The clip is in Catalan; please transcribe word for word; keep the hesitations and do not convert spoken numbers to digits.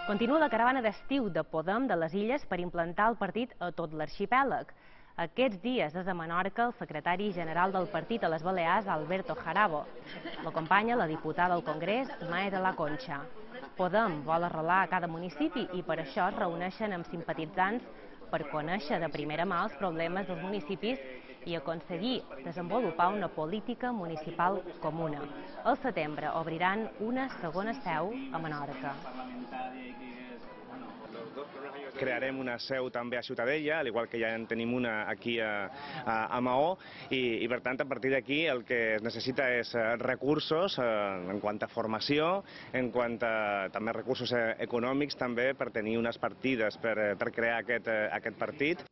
Continua la caravana d'estiu de Podem de les Illes per implantar el partit a tot l'arxipèlag. Aquests dies és a Menorca el secretari general del partit a les Balears, Alberto Jarabo. L'acompanya la diputada al Congrés, Mae de la Concha. Podem vol arrelar a cada municipi i per això es reuneixen amb simpatitzants per conèixer de primera mà els problemes dels municipis i aconseguir desenvolupar una política municipal comuna. Al setembre obriran una segona seu a Menorca. Crearem una seu també a Ciutadella, al igual que ja en tenim una aquí a, a, a Maó, i, i per tant a partir d'aquí el que es necessita és recursos eh, en quant a formació, en quant a també recursos econòmics també per tenir unes partides per, per crear aquest, aquest partit.